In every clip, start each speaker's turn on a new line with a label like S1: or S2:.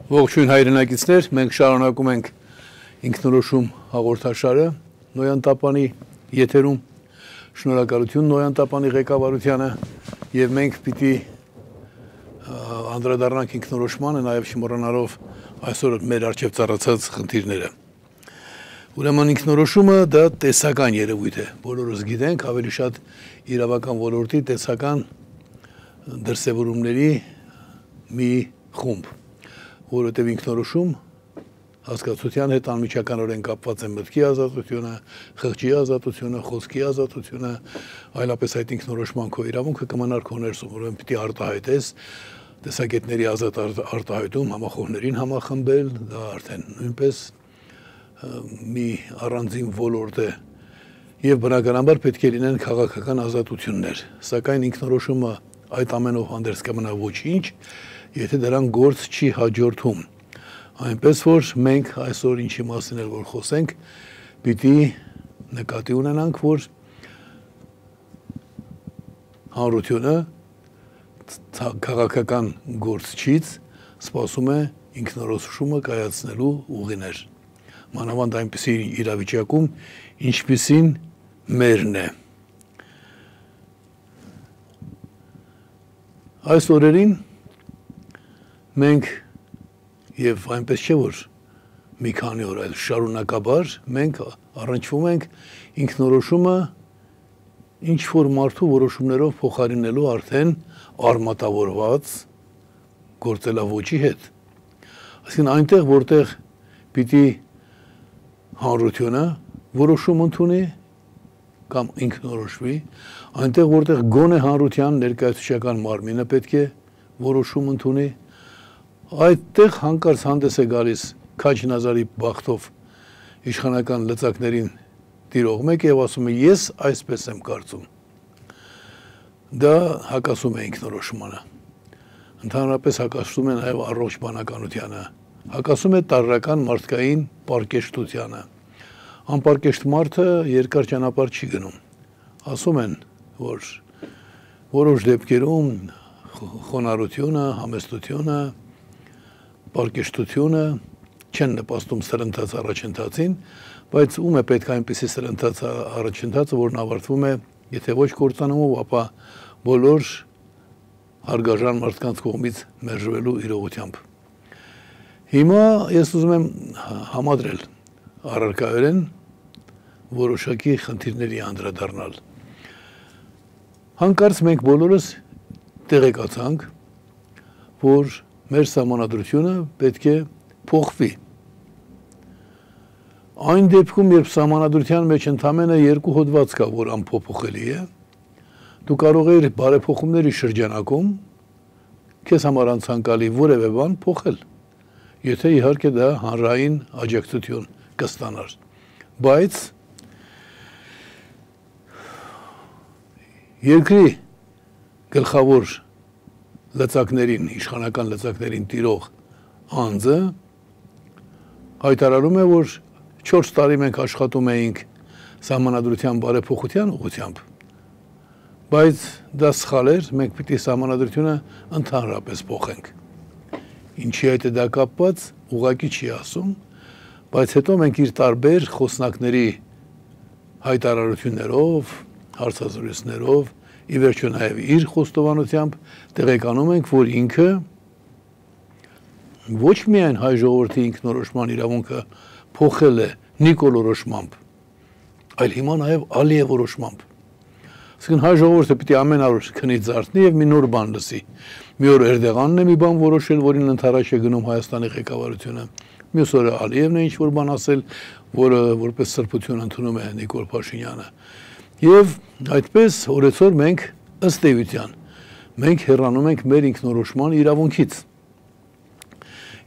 S1: Ողջույն հայրենակիցներ, մենք շարունակում ենք ինքնորոշում հաղորդաշարը Նոյան Տապանի եթերում, շնորհակալություն Նոյան Տապանի ղեկավարությանը եւ մենք պիտի անդրադառնանք ինքնորոշմանը, նաեւ չմոռանալով այսօր մեր առջև ծառացած խնդիրները։ Ուրեմն ինքնորոշումը դա տեսական երևույթ է, բոլորս գիտենք, ավելի շատ իրավական ոլորտի տեսական դրսևորումների մի խումբ, որովհետև ինքնորոշում հասկացության հետ անմիջականորեն կապված է մտքի ազատությունը, խղճի ազատությունը, խոսքի ազատությունը, այլապես այդ ինքնորոշման քո իրավունքը կմնար քո ներսում, որովհետև պիտի արտահայտես տեսակետների ազատ արտահայտում, համախոհներին համախմբել, դա արդեն նույնպես մի առանձին ոլորտ է եւ բնականաբար պետք է լինեն քաղաքական ազատություններ, սակայն ինքնորոշումը այդ ամենով հանդերձ կմնա ոչինչ, եթե դրան գործ չի հաջորդում, այնպես որ մենք այսօր ինչի մասին էլ որ խոսենք, պիտի նկատի ունենանք, որ հանրությունը քաղաքական գործչից սպասում է ինքնորոշումը կայացնելու ուղիներ, մանավանդ այնպիսի իրավիճակում, ինչպիսին մերն է։ Այս օրերին մենք եւ այնպես չէ որ մի քանի օր այլ շարունակաբար մենք առնչվում ենք ինքնորոշումը ինչ որ մարդու որոշումներով փոխարինելու արդեն արմատավորված գործելավոճի հետ։ Այսինքն այնտեղ որտեղ պիտի հանրությունը որոշում ընդունի կամ ինքնորոշվի, այնտեղ որտեղ գոնե հանրության ներկայացուցչական մարմինը պետք է որոշում ընդունի, այդտեղ հանկարծ հանդես է գալիս Քաջ Նազարի բախտով իշխանական լծակներին տիրող մեկ եւ ասում է ես այսպես եմ կարծում։ Դա հակասում է ինքնորոշմանը։ Ընդհանրապես հակասում է նաեւ առողջ բանականությանը, հակասում է տարրական մարդկային պարկեշտությանը։ Անպարկեշտ մարդը երկար ճանապարհ չի գնում։ Ասում են, որ որոշ դեպքերում խոնարհությունը, համեստությունը, պարկեշտությունը չեն նպաստում սրընթաց առաջընթացին, բայց ում է պետք այնպիսի սրընթաց առաջընթացը, որն ավարտվում է, եթե ոչ կործանումով, ապա բոլոր հարգարժան մարդկանց կողմից մերժվելու իրողությամբ։ Հիմա ես ուզում եմ համադրել առարկայորեն որոշակի խնդիրների անդրադառնալ։ Հանկարծ մենք բոլորս տեղեկացանք, որ մեր սահմանադրությունը պետք է փոխվի։ Այն դեպքում, երբ սահմանադրության մեջ ընդամենը 2 հոդված կա, որ անփոփոխելի է, դու կարող ես բարեփոխումների շրջանակում քեզ համար անցանկալի որևէ բան փոխել, եթե իհարկե դա հանրային աջակցություն կստանար։ Բայց երկրի գլխավոր լծակներին, իշխանական լծակներին տիրող անձը հայտարարում է, որ 4 տարի մենք աշխատում էինք սահմանադրության բարեփոխության ուղղությամբ, բայց դա սխալ էր, մենք պիտի սահմանադրությունը ընդհանրապես փոխենք։ Ինչի հետ է դա կապված, ուղղակի չի ասում, բայց հետո մենք իր տարբեր խոսնակների հայտարարություններով, հարցազրույցներով, ի վերջո նաև իր խոստովանությամբ տեղեկանում ենք, որ ինքը ոչ միայն հայ ժողովրդի ինքնորոշման իրավունքը փոխել է նիկոլորոշմամբ, այլ հիմա նաև Ալիև որոշմամբ։ Այսինքն հայ ժողովուրդը պիտի ամեն օր քնի ձարթնի եւ մի նոր բան լսի։ Մի օր Էրդողանն է մի բան որոշել, որին ընդառաջ է գնում Հայաստանի ղեկավարությունը։ Մյուս օրը Ալիևն է ինչ-որ բան ասել, որը որպես սրբություն ընդունում է Նիկոլ Փաշինյանը։ Եվ այդպես օրեցօր մենք ըստ էության մենք հեռանում ենք մեր ինքնորոշման իրավունքից։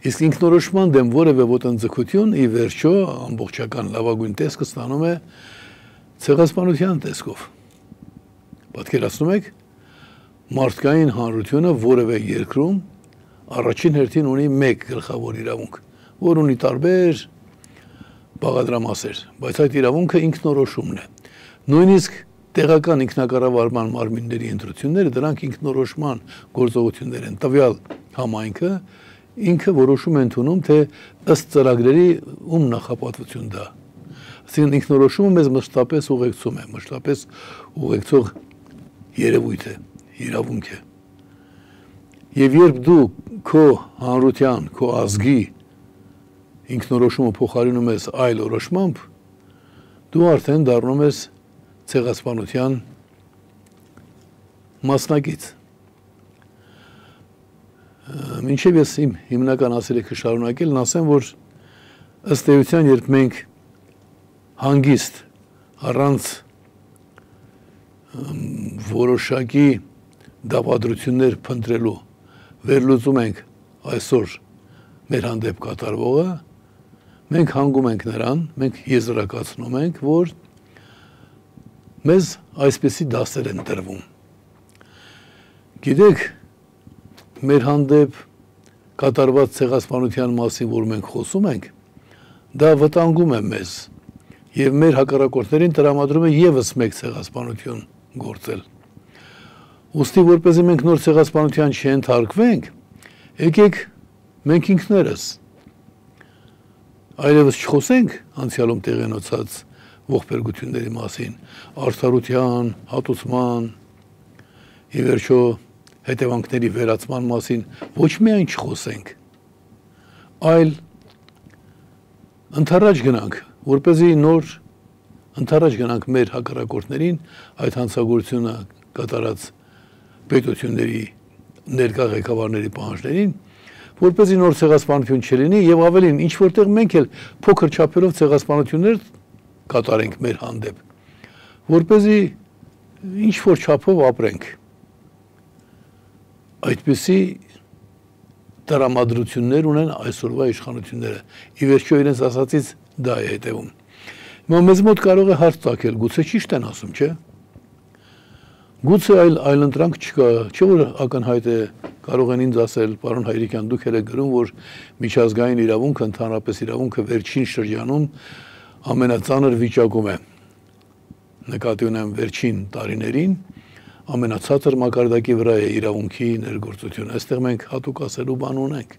S1: Իսկ ինքնորոշման դեմ որևէ ոտնձգություն ի վերջո ամբողջական լավագույն տեսքը ստանում է ցեղասպանության տեսքով։ Պատկերացնում եք, մարդկային հանրությունը որևէ երկրում առաջին հերթին ունի մեկ գլխավոր իրավունք, որ ունի տարբեր բաղադրամասեր, բայց այդ իրավունքը ինքնորոշումն է։ Նույնիսկ տեղական ինքնակառավարման մարմինների ընտրությունները դրանք ինքնորոշման գործողություններ են, տվյալ համայնքը ինքը որոշում է ընդունում, թե ըստ ծրագրերի ում նախապատվություն դա։ Այսինքն ինքնորոշումը մեզ մշտապես ուղեկցում է, մշտապես ուղեկցող երևույթ է, իրավունք է։ Եվ երբ դու քո հանրության, քո ազգի ինքնորոշումը փոխարինում ես այլ որոշմամբ, դու արդեն դառնում ես ցեղասպանության մասնակից։ Մինչև ես իմ հիմնական ասելիքը շարունակելն ասեմ, որ ըստ էության, երբ մենք հանգիստ առանց որոշակի դավադրություններ փնտրելու վերլուծում ենք այսօր մեր հանդեպ կատարվողը, մենք հանգում ենք նրան, մենք եզրակացնում ենք, որ մեզ այսպիսի դասեր են տրվում։ Գիտեք, մեր հանդեպ կատարված ցեղասպանության մասին, որ մենք խոսում ենք, դա վտանգում է մեզ եւ մեր հակառակորդներին տրամադրում է եւս մեկ ցեղասպանություն գործել։ Ուստի որպեսզի մենք նոր ցեղասպանության չընթարկվենք, եկեք մենք ինքներս այլևս չխոսենք անցյալում տեղի ունեցած ողբերգությունների մասին, արդարության, հատուցման, ի վերջո հետևանքների վերացման մասին ոչ միայն չխոսենք, այլ ընդառաջ գնանք, որպեսզի նոր ընդառաջ գնանք մեր հակառակորդներին այդ հանցագործությունը կատարած պետությունների ներկա ղեկավարների պահանջներին, որպեսզի նոր ցեղասպանություն չլինի եւ ավելին, ինչ որտեղ մենք էլ փոքր չափերով ցեղասպանություններ կատարենք մեր հանդեպ, որպեսզի ինչ որ չափով ապրենք։ Այդպիսի տրամադրություններ ունեն այսօրվա իշխանությունները։ Ի վերջո իրենց ասածից դա է հետևում։ Հիմա մեզ մոտ կարող է հարց ծագել, գուցե ճիշտ են ասում, չէ՞։ Գուցե այլ ընտրանք չկա, չէ՞ որ ակնհայտ է, կարող են ինձ ասել, պարոն Հայրիկյան, դուք եք գրում, որ միջազգային իրավունքը, ընդհանրապես իրավունքը վերջին շրջանում ամենածանր վիճակում է։ Նկատի ունեմ վերջին տարիներին ամենացածր մակարդակի վրա է իրավունքի ներգործությունը։ Այստեղ մենք հատուկ ասելու բան ունենք։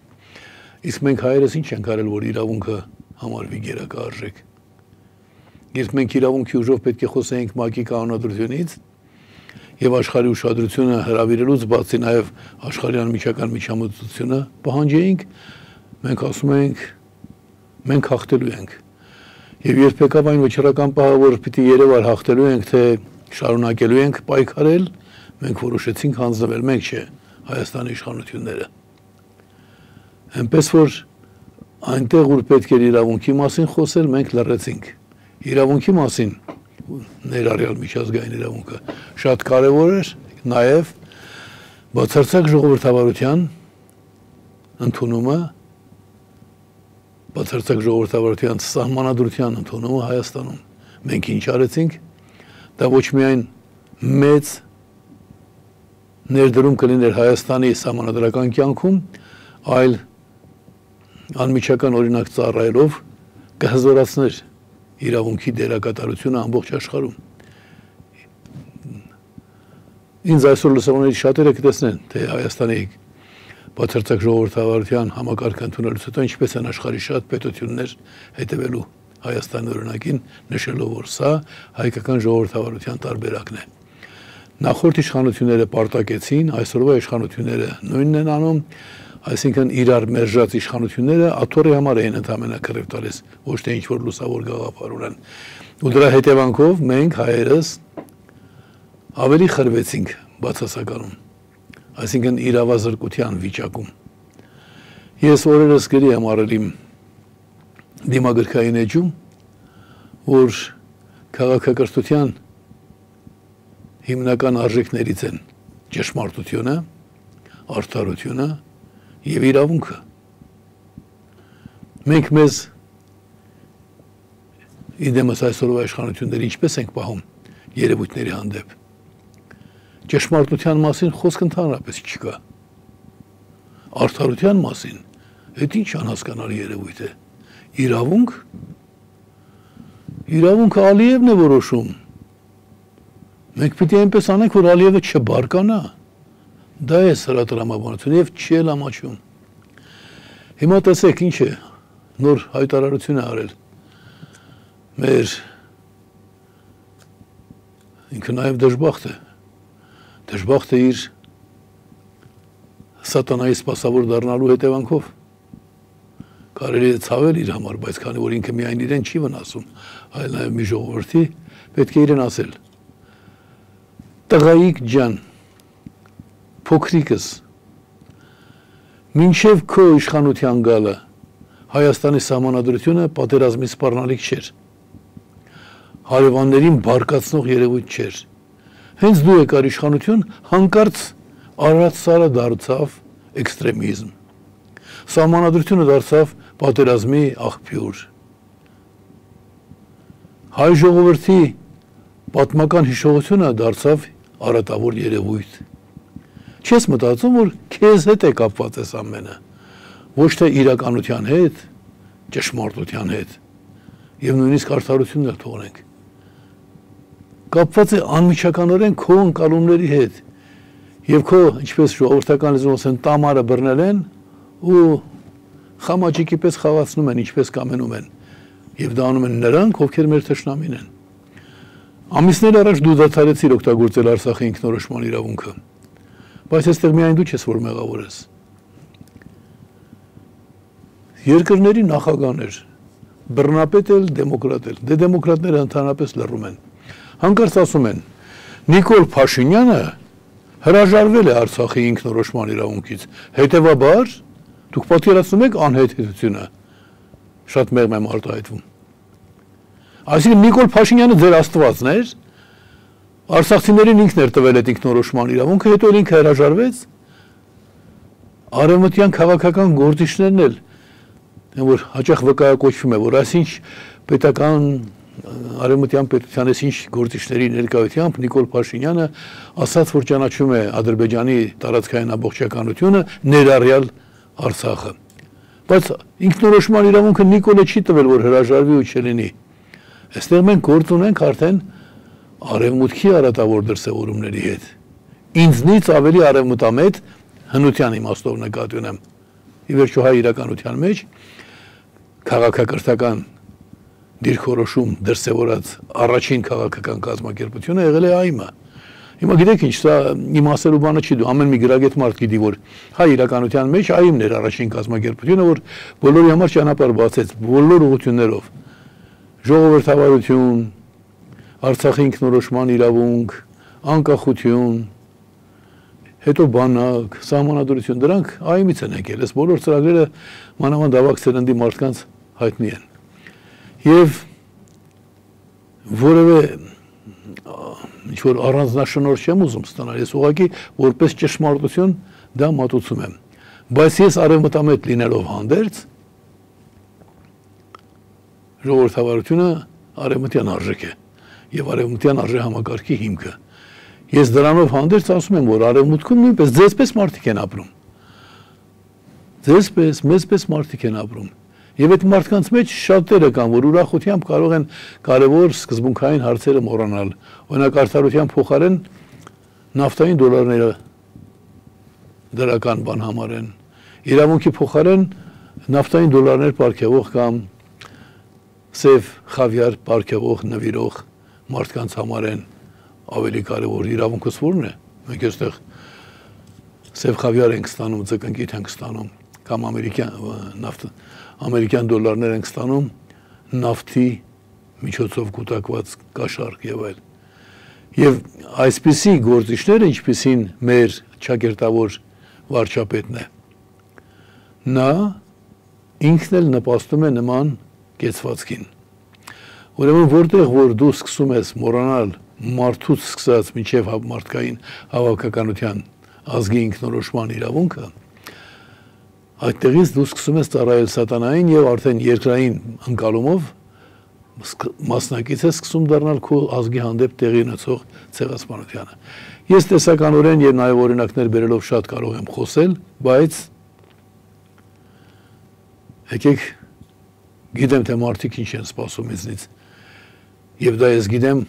S1: Իսկ մենք հայերս ինչ ենք արել, որ իրավունքը համարվի գերակարժեք։ Երբ մենք իրավունքի ուժով պետք է խոսեինք ՄԱԿ-ի կանոնադրությունից եւ աշխարհի ուշադրությունը հրավիրելուց բացի նաեւ աշխարհի անմիջական միջամտությունը պահանջեինք, մենք ասում ենք մենք հաղթելու ենք։ Եվ երբ եկավ այն վճռական պահը, որ պիտի երևար հաղթելու ենք, թե շարունակելու ենք պայքարել, մենք որոշեցինք հանձնվել, մենք չէ, Հայաստանի իշխանությունները։ Այնպես որ այնտեղ, որ պետք էր իրավունքի մասին խոսել, մենք լռեցինք։ Իրավունքի մասին, ներառյալ միջազգային իրավունքը, շատ կարևոր էր նաև բացարձակ ժողովրդավարության ընդունումը, բացարձակ ժողովրդավարության սահմանադրության ընդունումը Հայաստանում։ Մենք ինչ արեցինք, դա ոչ միայն մեծ ներդրում կլիներ Հայաստանի սահմանադրական կյանքում, այլ անմիջական օրինակ ծառայելով կհզորացներ իրավունքի դերակատարությունը ամբողջ աշխարհում։ Ինձ այսօր լսողներից շատերը կտեսնեն, թե Հայաստանի բացարձակ ժողովրդավարության համակարգը ընդունելուց հետո ինչպես են աշխարհի շատ պետություններ հետևելու Հայաստանի օրինակին, նշելով, որ սա հայկական ժողովրդավարության տարբերակն է։ Նախորդ իշխանությունները պարտակեցին, այսօրվա իշխանությունները նույնն են անում, այսինքն իրար մերժած իշխանությունները աթոռի համար էին ընդհանրապես կռիվ տալիս, ոչ թե ինչ-որ լուսավոր գաղափար ունեն։ Ու դրա հետևանքով մենք հայերս ավելի խրվեցինք բացասականում, այսինքն իրավազրկության վիճակում։ Ես օրերս գրի եմ արել իմ դիմագրքային էջում, որ քաղաքակրթության հիմնական արժեքներից են ճշմարտությունը, արդարությունը եւ իրավունքը։ Մենք մեզ իդեմս այսօրվա իշխանությունները ինչպես ենք պահում երևույթների հանդեպ։ Ճշմարտության մասին խոսք ընդհանրապես չկա։ Արդարության մասին, այդ ինչ անհասկանալի երևույթ է։ Իրավունք։ Իրավունքը Ալիևն է որոշում։ Մենք պիտի այնպես անենք, որ Ալիևը չբարկանա։ Դա է սրա տրամաբանությունը եւ չի էլ ամաչում։ Հիմա տեսեք ինչ է, նոր հայտարարություն է արել մեր ինքը նաև դժբախտ է իր սատանայի սպասավոր դառնալու հետևանքով կարելի է ցավել իր համար, բայց քանի որ ինքը միայն իրեն չի վնասում, այլ նաև մի ժողովրդի պետք է իրեն ասել. Տղայիկ ջան, փոքրիկս, մինչև քո իշխանության գալը Հայաստանի սահմանադրությունը պատերազմի սպառնալիք չէր, հարևաններին բարկացնող երևույթ չէր, հենց դու եկար իշխանություն, հանկարծ Արարատ սարը դարձավ էքստրեմիզմ, սահմանադրությունը դարձավ պատերազմի աղբյուր, հայ ժողովրդի պատմական հիշողությունը դարձավ արատավոր երևույթ, չես մտածում, որ քեզ հետ է կապված այս ամենը, ոչ թե իրականության հետ, ճշմարտության հետ, և նույնիսկ արդարությունն էլ թողնենք, կապված է անմիջականորեն քո ընկալումների հետ, և քո, ինչպես ժողովրդական լեզվով ասեն, տամարը բռնել են ու խամաճիկի պես խաղացնում են, ինչպես կամենում են, և դա անում են նրանք, ովքեր մեր թշնամին են։ Ամիսներ առաջ դու դադարեցիր օգտագործել Արցախի ինքնորոշման իրավունքը, բայց այստեղ միայն դու չես, որ մեղավոր ես։ Երկրների նախագահներ, բռնապետ էլ, դեմոկրատ էլ, դե դեմոկրատները ընդհանրապես լռում են։ Հանկարծ ասում են, Նիկոլ Փաշինյանը հրաժարվել է Արցախի ինքնորոշման իրավունքից, հետևաբար դուք պատկերացնում եք անհետեթությունը, շատ մեղմ եմ արտահայտվում։ Այսինքն Նիկոլ Փաշինյանը ձեր աստվածն էր, արցախցիներին ինքն էր տվել այդ ինքնորոշման իրավունքը, հետո ինքը հրաժարվեց, արևմտյան քաղաքական գործիչներն էլ, որ հաճախ վկայակոչվում է, որ այսինչ պետական արևմտյան պետության ինչ գործիչների ներկայությամբ Նիկոլ Փաշինյանը ասաց, որ ճանաչում է Ադրբեջանի տարածքային ամբողջականությունը, ներառյալ Արցախը։ Բայց ինքնորոշման իրավունքը Նիկոլը չի տվել, որ հրաժարվի ու չլինի։ Այստեղ մենք գործ ունենք արդեն արևմուտքի արատավոր դրսևորումների հետ։ Ինձնից ավելի արևմտամետ հնության իմաստով նկատի ունեմ։ Ի վերջո հայ իրականության մեջ քաղաքակրթական դիրքորոշում դրսևորած առաջին քաղաքական կազմակերպությունը եղել է ԱԻՄ-ը։ Հիմա գիտեք ինչ, սա իմ ասելու բանը չի, դու ամեն մի գրագետ մարդ գիտի, որ հայ իրականության մեջ ԱԻՄ-ն էր առաջին կազմակերպությունը, որ բոլորի համար ճանապարհ բացեց բոլոր ուղղություններով։ Ժողովրդավարություն, Արցախի ինքնորոշման իրավունք, անկախություն, հետո բանակ, սահմանադրություն, դրանք ԱԻՄ-ից են եկել, այս բոլոր ծրագրերը մանավանդ ավագ սերնդի մարդկանց հայտնի են։ Եվ որևէ ինչ-որ առանձնաշնորհ չեմ ուզում ստանալ, ես ուղղակի որպես ճշմարտություն դա մատուցում եմ։ Բայց ես արևմտամետ լինելով հանդերձ, ժողովրդավարությունը արևմտյան արժեք է և արևմտյան արժեհամակարգի հիմքը։ Ես դրանով հանդերձ ասում եմ, որ արևմուտքում նույնպես ձեզպես մարդիկ են ապրում։ Ձեզպես, մեզպես մարդիկ են ապրում։ Եվ այդ մարդկանց մեջ շատերը կան, որ ուրախությամբ կարող են կարևոր սկզբունքային հարցերը մոռանալ, օրինակ արդարության փոխարեն նավթային դոլարները դրական բան համարեն, իրավունքի փոխարեն նավթային դոլարներ պարգևող կամ սև խավիար պարգևող նվիրող մարդկանց համարեն ավելի կարևոր, իրավունքս որն է, մենք այստեղ սև խավիար ենք ստանում, ձկնկիթ ենք ստանում, կամ ամերիկյան դոլարներ ենք ստանում, նավթի միջոցով կուտակված կաշառք եւ այլ։ Եվ այսպիսի գործիչները, ինչպիսին մեր ճակերտավոր վարչապետն է, նա ինքն էլ նպաստում է նման կեցվածքին։ Ուրեմն որտեղ որ դու սկսում ես մոռանալ մարդուց սկսած մինչև մարդկային հավաքականության ազգի ինքնորոշման իրավունքը, այդտեղից դու սկսում ես ծառայել սատանային եւ արդեն երկրային ընկալումով մասնակից է սկսում դառնալ քո ազգի հանդեպ տեղի ունեցող ցեղասպանությանը։ Ես տեսականորեն եւ նաեւ օրինակներ բերելով շատ կարող եմ խոսել, բայց եկեք գիտեմ թե մարդիկ ինչ են սպասում ինձնից։ Եվ դա ես գիտեմ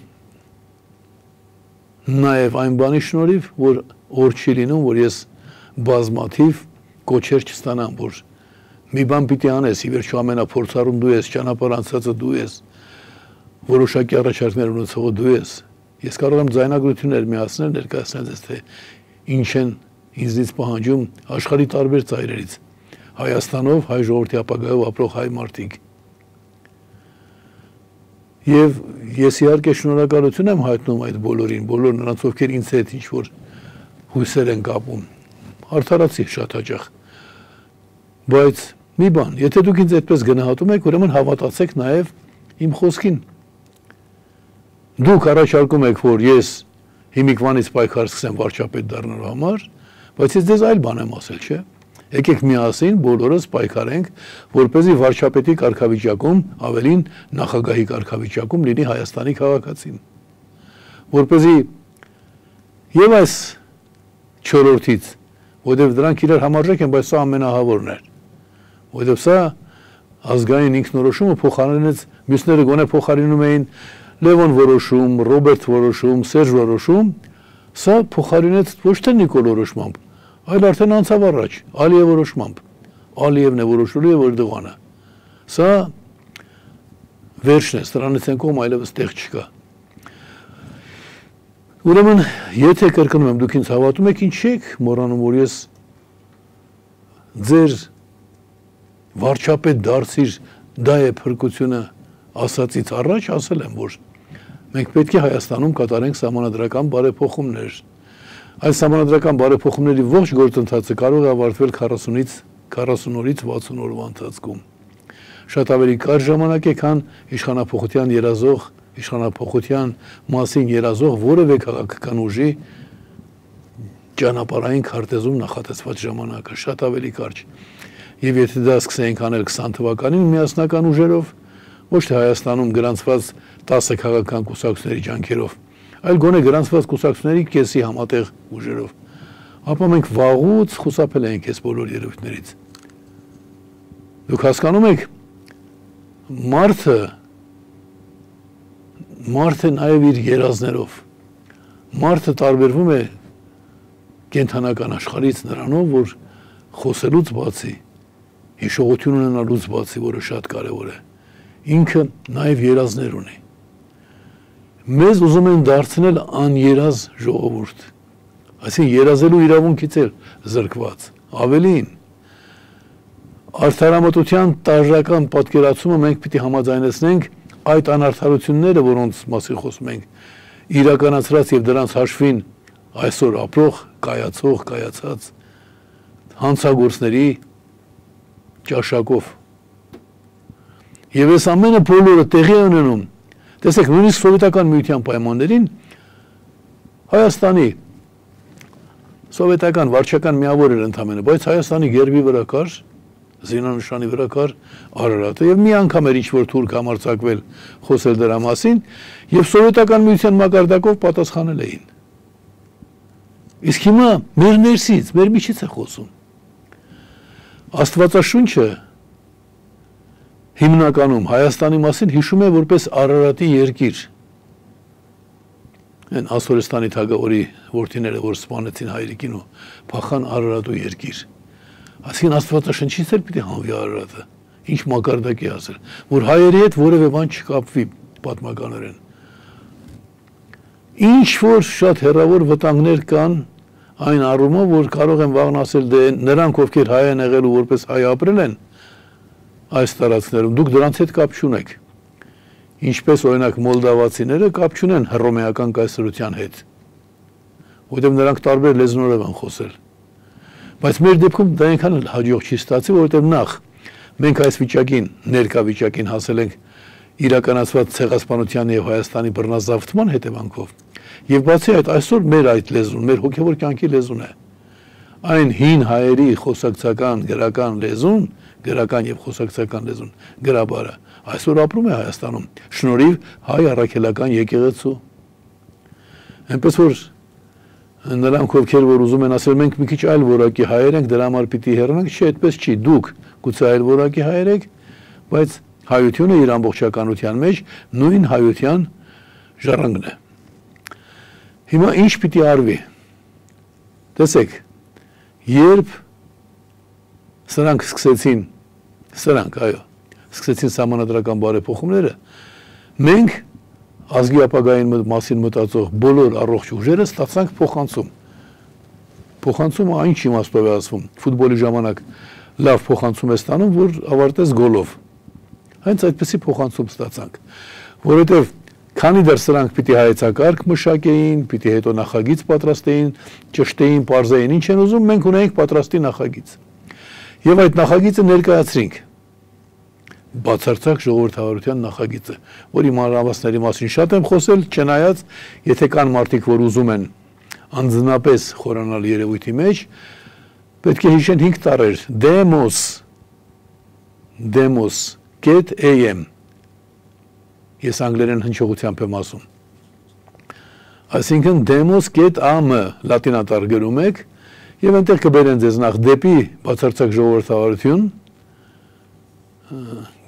S1: նաեւ այն բանի շնորհիվ, որ օր չի լինում, որ ես բազմաթիվ կոչեր չստանամ, որ մի բան պիտի անես, ի վերջո ամենափորձառուն դու ես, ճանապարհ անցածը դու ես, որոշակի առաջարկներ ունեցողը դու ես։ Ես կարող եմ ձայնագրություններ միացնել, ներկայացնել ձեզ, թե ինչ են ինձնից պահանջում աշխարհի տարբեր ծայրերից, Հայաստանով, հայ ժողովրդի ապագայով ապրող հայ մարդիկ։ Եվ ես իհարկե շնորհակալություն եմ հայտնում այդ բոլորին, բոլոր նրանց, ովքեր ինձ հետ ինչ-որ հույսեր են կապում, արդարացի շատ հաճախ։ Բայց մի բան, եթե դուք ինձ այդպես գնահատում եք, ուրեմն հավատացեք նաև իմ խոսքին։ Դուք առաջարկում եք, որ ես հիմիկվանից պայքար սկսեմ վարչապետ դառնալու համար, բայց ես ձեզ այլ բան եմ ասել, չէ՞։ Եկեք միասին բոլորս պայքարենք, որպեսզի վարչապետի կարգավիճակում, ավելին նախագահի կարգավիճակում լինի Հայաստանի քաղաքացին։ Որպեսզի եւ այս չորրորդից, որովհետեւ դրանք իրար համարժեք են, բայց սա ամենահավորն էր։ Որովհետեւ սա ազգային ինքնորոշումը փոխարինեց, մյուսները գոնե փոխարինում էին Լևոն որոշում, Ռոբերտ որոշում, Սերժ որոշում, սա փոխարինեց ոչ թե Նիկոլ որոշմամբ, այլ արդեն անցավ առաջ, Ալիև որոշմամբ։ Ալիևն է որոշելու եւ Էրդողանը։ Սա վերջն է, սրանից են կողմ այլևս տեղ չկա։ Ուրեմն, եթե կրկնում եմ, դուք ինձ հավատում եք, ինչ եք մոռանում, որ ես ձեր վարչապետ դարձիր, դա է փրկությունը ասածից առաջ ասել եմ, որ մենք պետք է Հայաստանում կատարենք սահմանադրական բարեփոխումներ։ Այս սահմանադրական բարեփոխումների ողջ գործընթացը կարող է ավարտվել 40-ից 60 օրվա ընթացքում։ Շատ ավելի կարճ ժամանակ է, քան իշխանափոխության երազող, իշխանափոխության մասին երազող որևէ քաղաքական ուժի ճանապարհային քարտեզում նախատեսված ժամանակը, շատ ավելի կարճ։ Եվ եթե դա սկսենք անել 20 թվականին միասնական ուժերով, ոչ թե Հայաստանում գրանցված 10 քաղաքական կուսակցությունների ջանքերով, այլ գոնե գրանցված կուսակցությունների կեսի համատեղ ուժերով, ապա մենք վաղուց խուսափել ենք այս բոլոր երևույթներից։ Դուք հասկանում եք, մարդը նաև իր երազներով, մարդը տարբերվում է կենդանական աշխարհից նրանով, որ խոսելուց բացի, հիշողություն ունենալուց բացի, որը շատ կարևոր է, ինքը նաև երազներ ունի։ Մեզ ուզում են դարձնել աներազ ժողովուրդ, այսինքն երազելու իրավունքից էլ զրկված, ավելին, արդարամտության տարրական պատկերացումը մենք պիտի համաձայնեցնենք այդ անարդարությունները, որոնց մասին խոսում ենք, իրականացրած եւ դրանց հաշվին այսօր ապրող, կայացած հանցագործների ճաշակով։ Եվ այս ամենը բոլորը տեղի է ունենում, տեսեք, նույնիսկ սովետական միության պայմաններին Հայաստանի սովետական վարչական միավոր էր ընդամենը, բայց Հայաստանի գերբի վրա կար, զինանշանի վրա կար Արարատը եւ մի անգամ էր ինչ-որ թուրք համարձակվել խոսել դրա մասին եւ սովետական միության մակարդակով պատասխանել էին։ Իսկ հիմա մեր ներսից, մեր միջից է խոսում։ Աստվածաշունչը հիմնականում Հայաստանի մասին հիշում է որպես Արարատի երկիր։ Այն Ասորեստանի թագավորի որդիները, որ սպանեցին հայրիկին ու փախան Արարատու երկիր։ Այսինքն Աստվածաշնչից էլ պիտի հանվի Արարատը, ինչ մակարդակ է ասել, որ հայերի հետ որևէ բան չկապվի պատմականորեն։ Ինչ որ շատ հեռավոր վտանգներ կան այն առումով, որ կարող են վաղն ասել, դե նրանք, ովքեր հայ են եղել ու որպես հայ ապրել են այս տարածքներում, դուք դրանց հետ կապ չունեք։ Ինչպես օրինակ մոլդավացիները կապ չունեն հռոմեական կայսրության հետ, որովհետև նրանք տարբեր լեզուներով են խոսել։ Բայց մեր դեպքում դա այնքան էլ հաջող չի ստացի, որովհետև նախ մենք այս վիճակին, ներկա վիճակին հասել ենք իրականացված ցեղասպանության եւ Հայաստանի բռնազավթման հետևանքով։ Եվ բացի այդ, այսօր մեր այդ լեզուն, մեր հոգևոր կյանքի լեզուն է։ Այն հին հայերի խոսակցական, գրական եւ խոսակցական լեզուն, գրաբարը, այսօր ապրում է Հայաստանում, շնորհիվ հայ առաքելական եկեղեցու։ Այնպես որ նրանք, ովքեր որ ուզում են ասել, մենք մի քիչ այլ որակի հայեր ենք, դրա համար պիտի հեռանանք, չէ, այդպես չի, դուք գուցե այլ որակի հայեր եք, բայց հայությունը իր ամբողջականության մեջ նույն հայության ժառանգն է։ Հիմա ինչ պիտի արվի։ Տեսեք, երբ սրանք սկսեցին Սրանք, այո, սկսեցին սահմանադրական բարեփոխումները, մենք ազգի ապագային մասին մտածող բոլոր առողջ ուժերը ստացանք փոխանցում։ Փոխանցումը այն իմաստով է ասվում, ֆուտբոլի ժամանակ լավ փոխանցում է ստանում, որ ավարտես գոլով։ Հենց այդպեսի փոխանցում ստացանք, որովհետև քանի դեռ սրանք պիտի հայեցակարգ մշակեին, պիտի հետո նախագիծ պատրաստեին, ճշտեին, պարզեին, ինչ են ուզում, մենք ունեինք պատրաստի նախագիծ։ Եվ այդ նախագիծը ներկայացրինք։ Բացարձակ ժողովրդավարության նախագիծը, որի մանրամասների մասին շատ եմ խոսել, չնայած, եթե կան մարդիկ, որ ուզում են անձնապես խորանալ երևույթի մեջ, պետք է հիշեն 5 տառեր, demos.am, ես անգլերեն հնչողությամբ եմ ասում, այսինքն demos.am լատինատառ գրում եք, և այնտեղ կբերեն ձեզ նախ դեպի բացարձակ ժողովրդավարություն,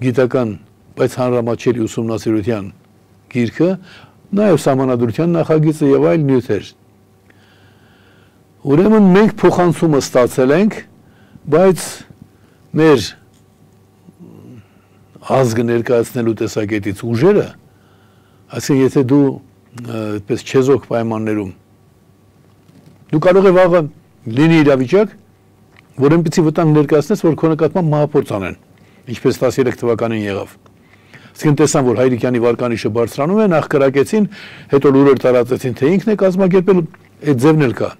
S1: գիտական, բայց հանրամատչելի ուսումնասիրության գիրքը, նաև սահմանադրության նախագիծը և այլ նյութեր։ Ուրեմն մենք փոխանցումը ստացել ենք, բայց մեր ազգը ներկայացնելու տեսակետից ուժերը, այսինքն եթե դու այդպես չեզոք պայմաններում, դու կարող է վաղը լինի իրավիճակ, որ այնպիսի վտանգ ներկայացնես, որ քո նկատմամբ մահափորձ անեն, ինչպես 13 թվականին եղավ։ Այսինքն տեսան, որ Հայրիկյանի վարկանիշը բարձրանում է, նախ կրակեցին, հետո լուրեր տարածեցին, թե ինքն է կազմակերպել, այդ ձևն էլ կա։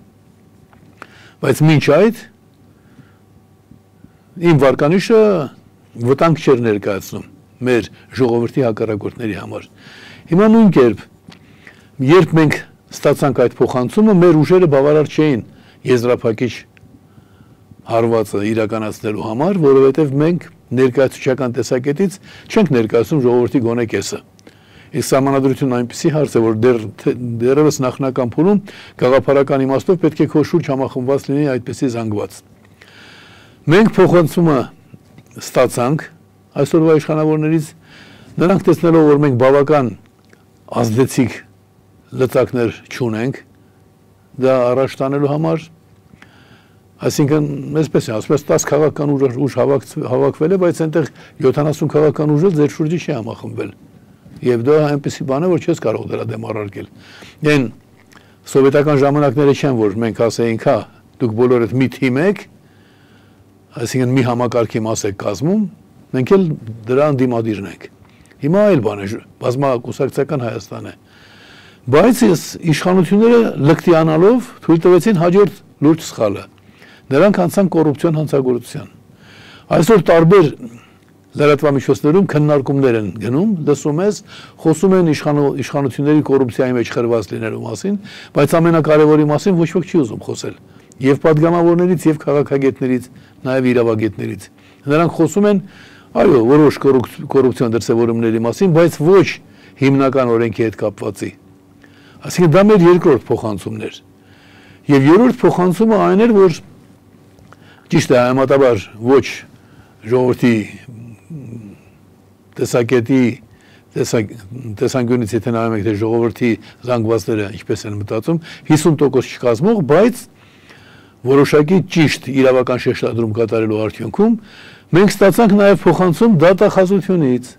S1: Բայց մինչ այդ իմ վարկանիշը վտանգ չէր ներկայացնում մեր ժողովրդի հակառակորդների համար։ Հիմա նույն կերպ, երբ մենք ստացանք այդ փոխանցումը, մեր ուժերը բավարար չէին եզրափակիչ հարվածը իրականացնելու համար, որովհետև մենք ներկայացուցչական տեսակետից չենք ներկայացնում ժողովրդի գոնե կեսը։ Իսկ սահմանադրությունն այնպիսի հարց է, որ դեռևս նախնական փուլում գաղափարական իմաստով պետք է քո շուրջ համախմբված լինի այդպիսի զանգված։ Մենք փոխանցումը ստացանք այսօրվա իշխանավորներից, նրանք տեսնելով, որ մենք բավական ազդեցիկ լծակներ չունենք դա առաջ տանելու համար, այսինքն, այսպես է, ասում ես 10 քաղաքական ուժ հավաքվել է, բայց այնտեղ 70 քաղաքական ուժը ձեր շուրջը չի համախմբվել։ Եվ դա այնպիսի բան է, որ չես կարող դրա դեմ առարկել։ Դեն սովետական ժամանակները չեն, որ մենք ասեինք, հա, դուք բոլորդ մի թիմ եք, այսինքն մի համակարգի մաս եք կազմում, մենք էլ դրա անդիմադիրն ենք։ Հիմա այլ բան է, բազմակուսակցական Հայաստան է։ Բայց իշխանությունները լկտիանալով թույլ տվեցին հաջորդ լուրջ սխալը։ Նրանք անցան կոռուպցիոն հանցագործության։ Այսօր տարբեր լրատվամիջոցներում քննարկումներ են գնում, լսում ես, խոսում են իշխանությունների կոռուպցիայի մեջ խրված լինելու մասին, բայց ամենակարևորի մասին ոչ ոք չի ուզում խոսել։ Եվ պատգամավորներից, եւ քաղաքագետներից, նաեւ իրավագետներից։ Նրանք խոսում են, այո, որոշ կոռուպցիոն դրսևորումների մասին, բայց ոչ հիմնական օրենքի հետ կապվածի։ Այսինքն դա մեր երկրորդ փոխանցումն էր։ Եվ երրորդ փոխանցումը այն էր, որ ճիշտ է, համատաբար ոչ ժողովրդի տեսանկյունից եթե նայում եք, թե ժողովրդի զանգվածները ինչպես են մտածում, 50% չկազմող, բայց որոշակի ճիշտ իրավական շեշտադրում կատարելու արդյունքում մենք ստացանք նաև փոխանցում դատախազությունից։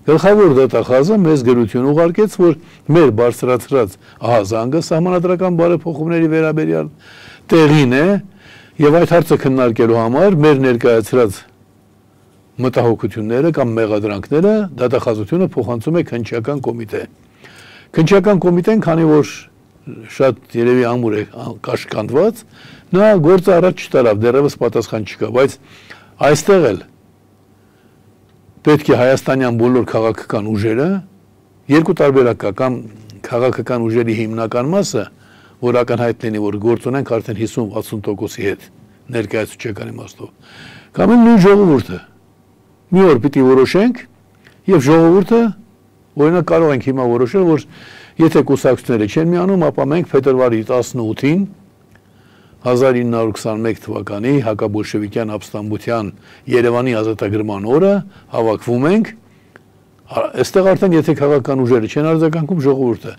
S1: Գլխավոր դատախազը մեզ գրություն ուղարկեց, որ մեր բարձրացրած ահազանգը սահմանադրական բարեփոխումների վերաբերյալ տեղին է եւ այդ հարցը քննարկելու համար մեր ներկայացրած մտահոգությունները կամ մեղադրանքները դատախազությունը փոխանցում է քննչական կոմիտե։ Քննչական կոմիտեն, քանի որ շատ երևի ամուր է կաշկանդված, նա գործը առաջ չտարավ, դեռևս պատասխան չկա, բայց այստեղ էլ պետք է հայաստանյան բոլոր քաղաքական ուժերը երկու տարբերակ կա, կամ քաղաքական ուժերի հիմնական մասը, որ ակնհայտ լինի, որ գործ ունենք արդեն 50-60%-ի հետ ներկայացուցչական իմաստով, կամ նույն ժողովուրդը։ Մի օր պիտի որոշենք եւ ժողովուրդը օրինակ կարող ենք հիմա որոշել, որ եթե կուսակցությունները չեն միանում, ապա մենք փետրվարի 18-ին 1921 թվականի հակաբոլշևիկյան ապստամբության Երևանի ազատագրման օրը հավաքվում ենք, այստեղ արդեն եթե քաղաքական ուժերը չեն արձագանքում, ժողովուրդը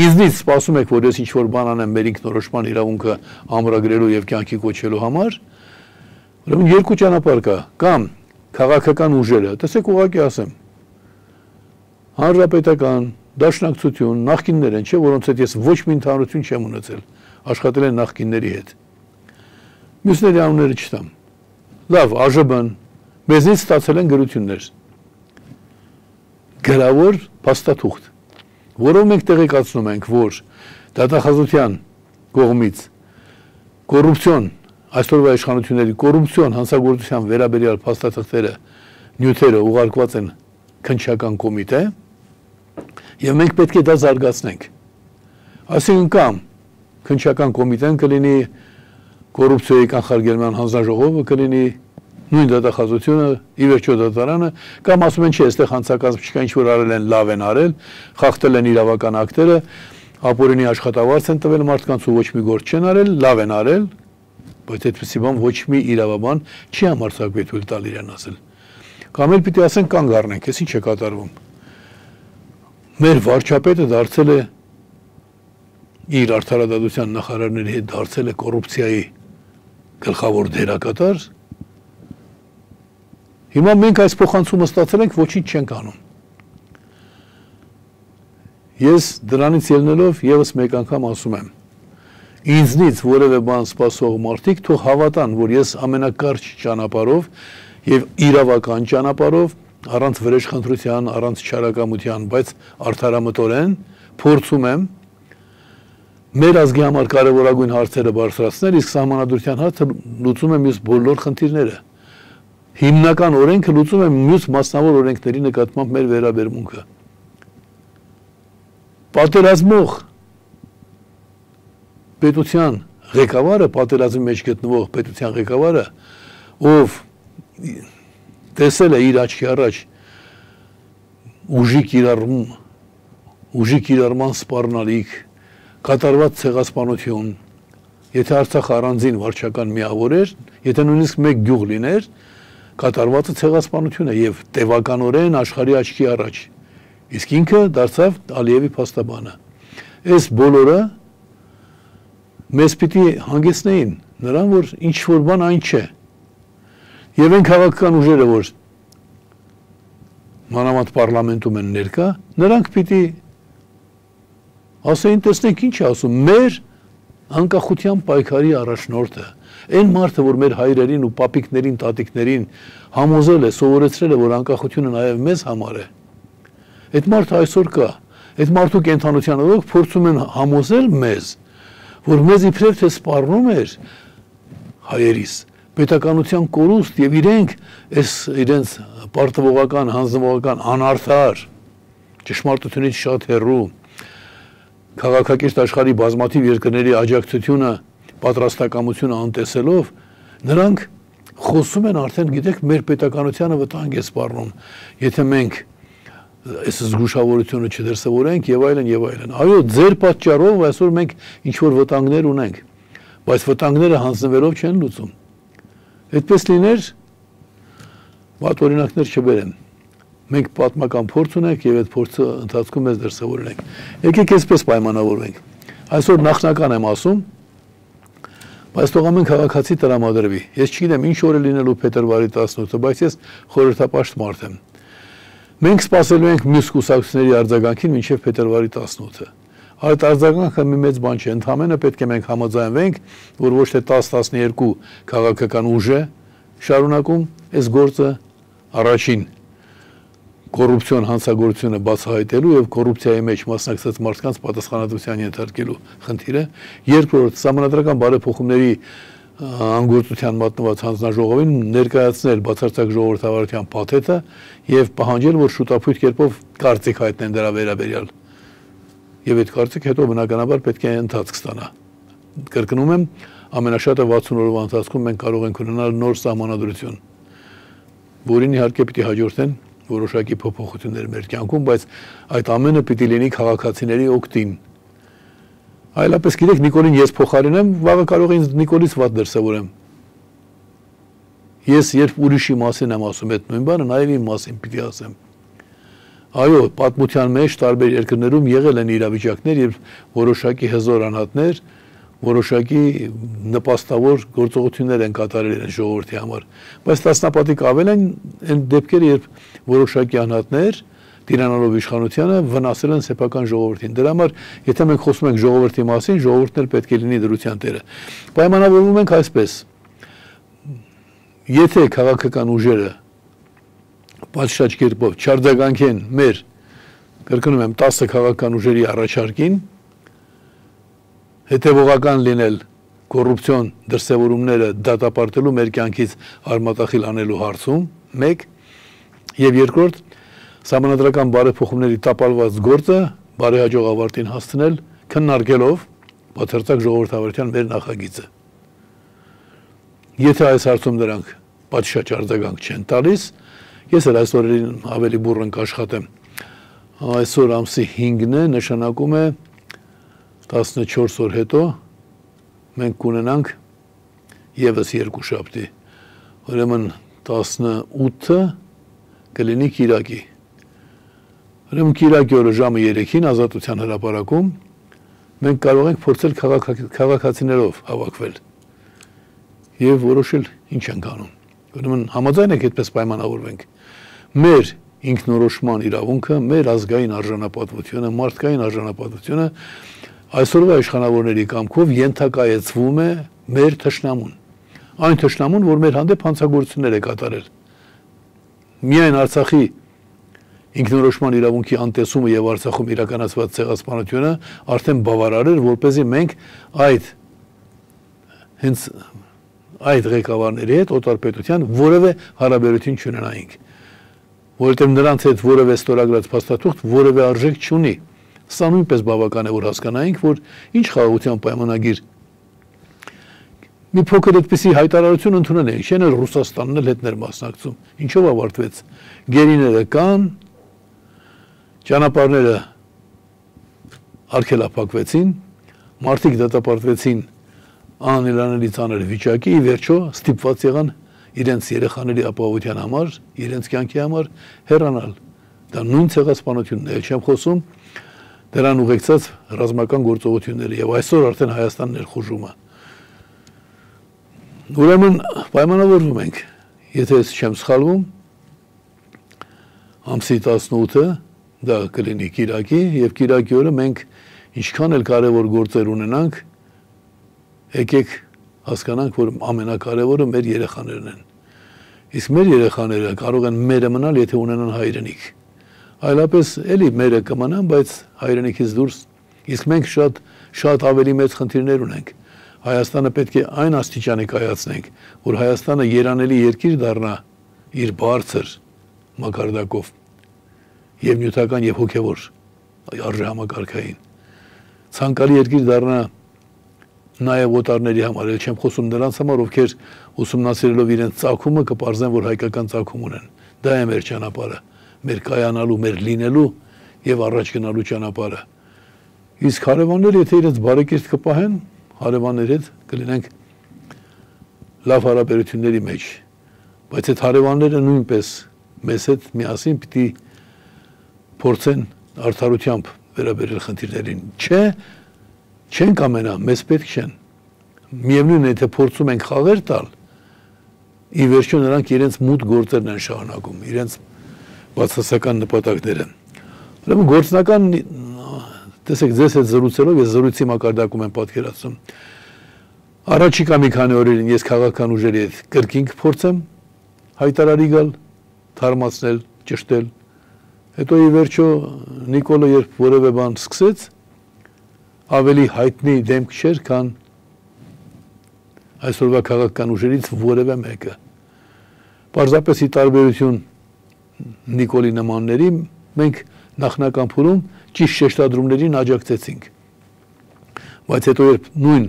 S1: ինձնից սպասում եք, որ ես ինչ-որ բան անեմ մեր ինքնորոշման իրավունքը ամրագրելու եւ կյանքի կոչելու համար, ուրեմն երկու ճանապարհ կա, կամ քաղաքական ուժերը, տեսեք ուղղակի ասեմ, հանրապետական, դաշնակցություն, նախկիններ են, չէ, որոնց հետ ես ոչ մի ընդհանրություն չեմ ունեցել, աշխատել են նախկինների հետ։ Մյուսների անունները չտամ։ Լավ, ԱԺԲ-ն, մեզնից ստացել են գրություններ։ Գրավոր փաստաթուղթ, որով մենք տեղեկացնում ենք, որ դատախազության կողմից կոռուպցիոն, այսօրվա իշխանությունների կոռուպցիոն հանցագործության վերաբերյալ փաստաթղթերը, նյութերը ուղարկված են քննչական կոմիտե, եւ մենք պետք է դա զարգացնենք։ Այսինքն կամ քննչական կոմիտեն կլինի կոռուպցիայի կանխարգելման հանձնաժողովը, կլինի նույն դատախազությունը, ի վերջո դատարանը, կամ ասում են չէ, այստեղ հանցակազմ չկա, ինչ որ արել են, լավ են արել, խախտել են իրավական ակտերը, ապօրինի աշխատավարձ են տվել մարդկանց ու ոչ մի գործ չեն արել, լավ են արել, բայց այդպիսի բան ոչ մի իրավաբան չի համարձակվի թույլ տալ իրեն ասել։ Կամ էլ պիտի ասեն կանգ առնենք, այս ինչ է կատարվում։ Մեր վարչապետը դարձել է իր արդարադատության նախարարների հետ դարձել է կոռուպցիայի գլխավոր դերակատար։ Հիմա մենք այս փոխանցումը ստացել ենք, ոչինչ չենք անում։ Ես դրանից ելնելով եւս մեկ անգամ ասում եմ, ինձնից որևէ բան սպասող մարդիկ թող հավատան, որ ես ամենակարճ ճանապարհով եւ իրավական ճանապարհով, առանց վրեժխնդրության, առանց չարակամության, բայց արդարամտորեն փորձում եմ մեր ազգի համար կարևորագույն հարցերը բարձրացնել, իսկ սահմանադրության հարցը լուծում է մյուս բոլոր խնդիրները։ Հիմնական օրենքը լուծում է մյուս մասնավոր օրենքների նկատմամբ մեր վերաբերմունքը։ Պատերազմող պետության ղեկավարը, պատերազմի մեջ գտնվող պետության ղեկավարը, ով տեսել է իր աչքի առաջ ուժի կիրառման սպառնալիք, կատարված ցեղասպանություն, եթե Արցախը առանձին վարչական միավոր էր, եթե նույնիսկ մեկ գյուղ լիներ, կատարվածը ցեղասպանություն է եւ տևականորեն աշխարհի աչքի առաջ։ Իսկ ինքը դարձավ Ալիևի փաստաբանը։ Այս բոլորը մեզ պիտի հանգեցնեին նրան, որ ինչ որ բան այն չէ։ Եվ այն քաղաքական ուժերը, որ մանավանդ պարլամենտում են ներկա, նրանք պիտի ասեին, տեսնենք ինչ է ասում, մեր անկախության պայքարի առաջնորդը, այն մարդը, որ մեր հայրերին ու պապիկներին, տատիկներին համոզել է, սովորեցրել է, որ անկախությունը նաև մեզ համար է։ Այդ մարդը այսօր կա, այդ մարդու կենթանության օրոք փորձում են համոզել մեզ, որ մեզ իբրև թե սպառնում էր հայերիս պետականության կորուստ եւ իրենք այս իրենց պարտավորական, հանձնվողական, անարդար, ճշմարտությունից շատ հեռու քաղաքակիրթ աշխարհի բազմաթիվ երկրների աջակցությունը, պատրաստակամությունը անտեսելով, նրանք խոսում են արդեն, գիտեք, մեր պետականությանը վտանգ է սպառնում, եթե մենք այս զգուշավորությունը չդրսևորենք եւ այլն եւ այլն։ Այո, ձեր պատճառով այսօր մենք ինչ որ վտանգներ ունենք, բայց վտանգները հանձնվելով չեն լուծում։ Այդպես լիներ, վատ օրինակներ չբերեմ։ Մենք պատմական փորձ ունենք եւ այդ փորձը ընթացքում մեզ դրսևորենք։ Եկեք այսպես պայմանավորվենք։ Այսօր նախնական եմ ասում, բայց թող ամեն քաղաքացի տրամադրվի։ Ես չգիտեմ ինչ օր է լինելու փետրվարի 18-ը, բայց ես խորհրդապաշտ մարդ եմ։ Մենք սպասելու ենք մյուս կուսակցությունների արձագանքին մինչև փետրվարի 18-ը։ Այդ արձագանքը մի մեծ բան չէ, ընդհանրապես պետք է մենք համաձայնվենք, որ ոչ թե 10-12 քաղաքական ուժ է շարունակում այս գործը առաջին կոռուպցիոն հանցագործությունը բացահայտելու եւ կոռուպցիայի մեջ մասնակցած մարդկանց պատասխանատվության ենթարկելու խնդիրը, երկրորդ սահմանադրական բարեփոխումների անգործության մատնված հանձնաժողովին ներկայացնել բացարձակ ժողովրդավարության փաթեթը եւ պահանջել, որ շուտապույտ կերպով կարծիք հայտնեն դրա վերաբերյալ։ Եվ այդ կարծիքը հետո բնականաբար պետք է ընթացք ստանա։ Կրկնում եմ, ամենաշատը 60 օրվա ընթացքում մենք կարող ենք ունենալ նոր սահմանադրություն, որին իհարկե պիտի հաջորդեն որոշակի փոփոխություններ մեր կյանքում, բայց այդ ամենը պիտի լինի քաղաքացիների օգտին։ Այլապես գիտեք, Նիկոլին ես փոխարինեմ, վաղը կարող է ինձ Նիկոլից վատ դրսևորեմ։ Ես երբ ուրիշի մասին եմ ասում այդ նույն բանը, նաև իմ մասին պիտի ասեմ։ Այո, պատմության մեջ տարբեր երկրներում եղել են իրավիճակներ, երբ որոշակի հզոր անհատներ որոշակի նպաստավոր գործողություններ են կատարել են ժողովրդի համար, բայց տասնապատիկ ավել են այն դեպքերը, երբ որոշակի անհատներ տիրանալով իշխանությանը վնասել են սեփական ժողովրդին։ Դրա համար, եթե մենք խոսում ենք ժողովրդի մասին, ժողովուրդն էլ պետք է լինի դրության տերը։ Պայմանավորվում ենք այսպես. եթե քաղաքական ուժերը պատշաճ կերպով չարձագանքեն մեր, կրկնում եմ, 10 քաղաքական ուժերի առաջարկին, հետևողական լինել կոռուպցիոն դրսևորումները դատապարտելու մեր կյանքից արմատախիլ անելու հարցում, մեկ, եւ երկրորդ, սահմանադրական բարեփոխումների տապալված գործը բարեհաջող ավարտին հասցնել, քննարկելով բացարձակ ժողովրդավարության մեր նախագիծը։ Եթե այս հարցում դրանք պատշաճ արձագանք չեն տալիս, ես էլ այս օրերին ավելի բուռն կաշխատեմ։ Այսօր ամսի 5-ն է, նշանակում է 14 օր հետո մենք կունենանք եւս երկու շաբթի։ Ուրեմն 18-ը կլինի Կիրակի։ Ուրեմն Կիրակի օրը ժամը 3-ին Ազատության հրապարակում մենք կարող ենք փորձել քաղաքացիներով հավաքվել եւ որոշել ինչ ենք անում։ Ուրեմն համաձայն եք այդպես պայմանավորվենք։ Մեր ինքնորոշման իրավունքը, մեր ազգային արժանապատվությունը, մարդկային արժանապատվությունը այսօրվա իշխանավորների կամքով ենթակայեցվում է մեր թշնամուն։ Այն թշնամուն, որ մեր հանդեպ հանցագործություններ է կատարել։ Միայն Արցախի ինքնորոշման իրավունքի անտեսումը եւ Արցախում իրականացված ցեղասպանությունը արդեն բավարար էր, որպեսզի մենք այդ ղեկավարների հետ օտարպետության որևէ հարաբերություն չունենայինք, որովհետև նրանց հետ որևէ ստորագրած փաստաթուղթ որևէ արժեք չունի։ Սա նույնպես բավական է, որ հասկանայինք, որ ինչ խաղաղության պայմանագիր մի փոքր այդպիսի հայտարարություն ընդունել ենք, չեն էլ Ռուսաստանն էլ հետ ներմասնակցում։ Ինչով ավարտվեց։ Գերիները կան, ճանապարհները արգելափակվեցին, մարդիկ դատապարտվեցին անելանելի ծանր վիճակի, ի վերջո ստիպված եղան իրենց երեխաների ապահովության համար, իրենց կյանքի համար հեռանալ։ Դա նույն ցեղասպանությունն է, չեմ խոսում դրան ուղեկցած ռազմական գործողությունները եւ այսօր արդեն Հայաստանն էլ խուժում է։ Ուրեմն պայմանավորվում ենք, եթե ես չեմ սխալվում, ամսի 18-ը դա կլինի Կիրակի եւ Կիրակի օրը մենք ինչքան էլ կարեւոր գործեր ունենանք, եկեք հասկանանք, որ ամենակարևորը մեր երեխաներն են։ Իսկ մեր երեխաները կարող են մերը մնալ, եթե ունենան հայրենիք։ Այլապես էլի մերը կմնան, բայց հայրենիքից դուրս։ Իսկ մենք շատ ավելի մեծ խնդիրներ ունենք։ Հայաստանը պետք է այն աստիճանի կայացնենք, որ Հայաստանը երանելի երկիր դառնա իր բարձր մակարդակով եւ նյութական եւ հոգեվոր արժեհամակարգային։ Ցանկալի երկիր դառնա նաև օտարների համար, էլ չեմ խոսում նրանց համար, ովքեր ուսումնասիրելով իրենց ծագումը կպարզեն, որ հայկական ծագում ունեն։ Դա է մեր ճանապարհը, մեր կայանալու, մեր լինելու եւ առաջ գնալու ճանապարհը։ Իսկ հարևանները, եթե իրենց բարեկիրթ կպահեն, հարևանների հետ կլինենք լավ հարաբերությունների մեջ։ Բայց այդ հարևանները նույնպես մեզ հետ միասին պիտի փորձեն արդարությամբ վերաբերել խնդիրներին։ Չենք ամենա, մեզ պետք չեն։ Միևնույն է, եթե փորձում ենք խաղեր տալ, ի վերջո նրանք իրենց մութ գործերն են շարունակում, իրենց բացասական նպատակները։ Ուրեմն գործնական, տեսեք, ձեզ հետ զրուցելով, ես զրույցի մակարդակում եմ պատկերացնում։ Առաջիկա մի քանի օրերին ես քաղաքական ուժերի հետ կրկին կփորձեմ հայտարարի գալ, թարմացնել, ճշտել։ Հետո ի վերջո Նիկոլը երբ որևէ բան սկսեց, ավելի հայտնի դեմք չէր, քան այսօրվա քաղաքական ուժերից որևէ մեկը։ Պարզապես ի տարբերություն Նիկոլի նմանների, մենք նախնական փուլում ճիշտ շեշտադրումներին աջակցեցինք։ Բայց հետո երբ նույն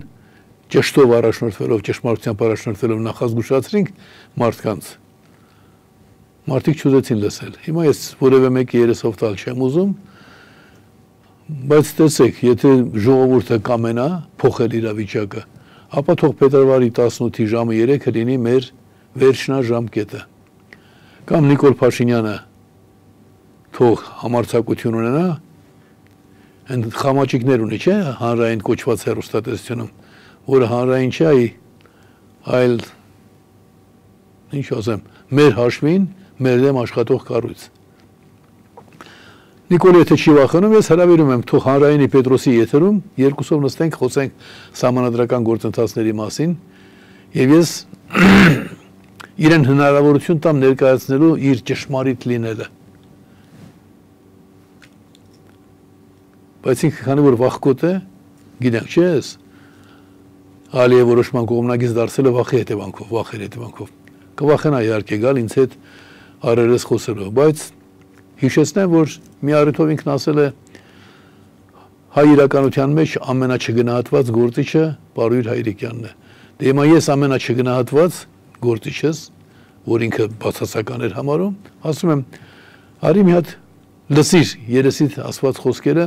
S1: ճշտով առաջնորդվելով, ճշմարտությամբ առաջնորդվելով նախազգուշացրինք մարդկանց, մարդիկ չուզեցին լսել։ Հիմա ես որևէ մեկի երեսով տալ չեմ ուզում, բայց տեսեք, եթե ժողովուրդը կամենա փոխել իրավիճակը, ապա թող փետրվարի 18-ի ժամը 3-ը լինի մեր վերջնաժամկետը։ Կամ Նիկոլ Փաշինյանը թող համարձակություն ունենա, այն խամաճիկներ ունի, չէ՞, հանրային կոչված հեռուստատեսությունում, որը հանրային չէ, այլ ինչ ասեմ, մեր հաշվին, մեր դեմ աշխատող կառույց։ Նիկոլ եթե չի վախենում, ես հրավիրում եմ թող հանրայինի Պետրոսի եթերում երկուսով նստենք, խոսենք սահմանադրական գործընթացների մասին, եւ ես իրեն հնարավորություն տամ ներկայացնելու իր ճշմարիտ լինելը։ Բայց ինքը քանի որ վախկոտ է, գիտենք չէ՞ ես, Ալիև որոշման կողմնակից դարձել է վախի հետևանքով, կվախենա իհարկե գալ ինձ հետ առերես խոսելով, բայց հիշեցնեմ, որ մի առիթով ինքն ասել է հայ իրականության մեջ ամենաչգնահատված գործիչը Պարույր Հայրիկյանն է։ Դե հիմա ես ամենաչգնահատված գործիչս, որ ինքը բացասական էր համարում, ասում եմ, արի մի հատ լսիր երեսիդ ասված խոսքերը,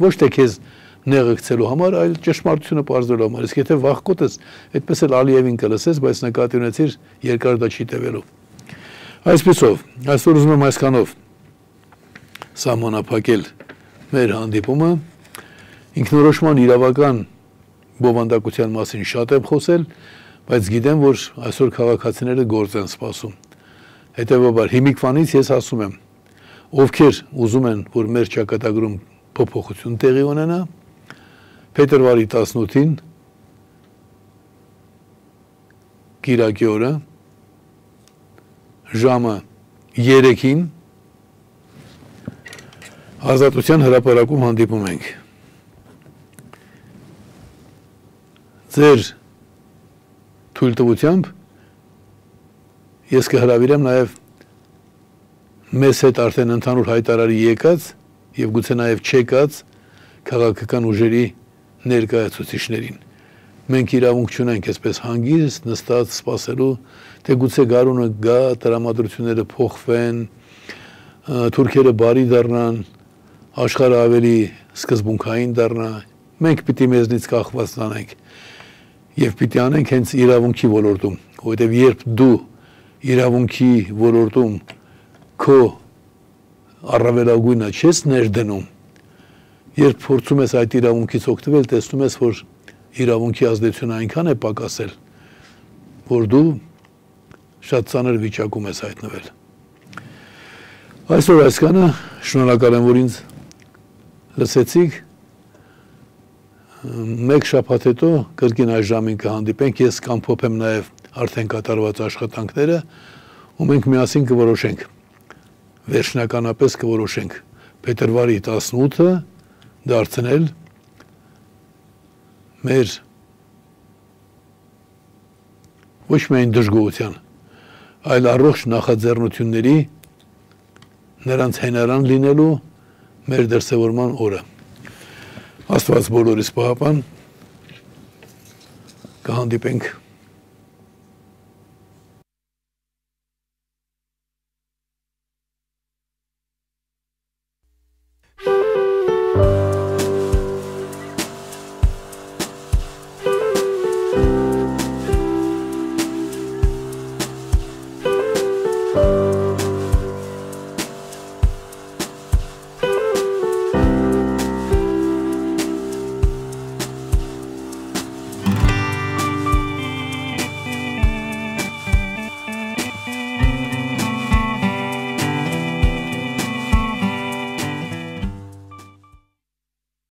S1: ոչ թե քեզ նեղը գցելու համար, այլ ճշմարտությունը պարզելու համար։ Իսկ եթե վախկոտ ես, այդպես էլ Ալիևին կլսես, բայց նկատի ունեցիր երկար դա չի տևելու։ Այսպեսով, այսօր ուզում եմ այսքանով սահմանափակել մեր հանդիպումը, ինքնորոշման իրավական բովանդակության մասին շատ եմ խոսել, բայց գիտեմ, որ այսօր քաղաքացիները գործ են սպասում։ Հետևաբար հիմիկվանից ես ասում եմ, ովքեր ուզում են, որ մեր ճակատագրում փոփոխություն տեղի ունենա, փետրվարի 18-ին կիրակի օրը ժամը 3-ին Ազատության հրապարակում հանդիպում ենք։ Ձեր թույլտվությամբ ես կհրավիրեմ նաև մեզ հետ արդեն ընդհանուր հայտարարի եկած եւ գուցե նաև չեկած քաղաքական ուժերի ներկայացուցիչներին։ Մենք իրավունք չունենք այսպես հանգիստ նստած սպասելու, թե գուցե գարունը գա, տրամադրությունները փոխվեն, թուրքերը բարի դառնան, աշխարհը ավելի սկզբունքային դառնա։ Մենք պիտի մեզնից կախված տանենք եւ պիտի անենք հենց իրավունքի ոլորտում, որովհետեւ երբ դու իրավունքի ոլորտում քո առավելագույնը չես ներդնում, երբ փորձում ես այդ իրավունքից օգտվել, տեսնում ես, որ իրավունքի ազդեցությունը այնքան է պակասել, որ դու շատ ծանր վիճակում ես հայտնվել։ Այսօր այսքանը, շնորհակալ եմ, որ ինձ լսեցիք։ Մեկ շաբաթ հետո կրկին այս ժամին կհանդիպենք, ես կամփոփեմ նաև արդեն կատարված աշխատանքները, ու մենք միասին կորոշենք, վերջնականապես կորոշենք փետրվարի 18-ը դարձնել մեր ոչ միայն դժգոհության, այլ առողջ նախաձեռնությունների նրանց հենարան լինելու մեր դրսևորման օրը։ Աստված բոլորիս պահապան, կհանդիպենք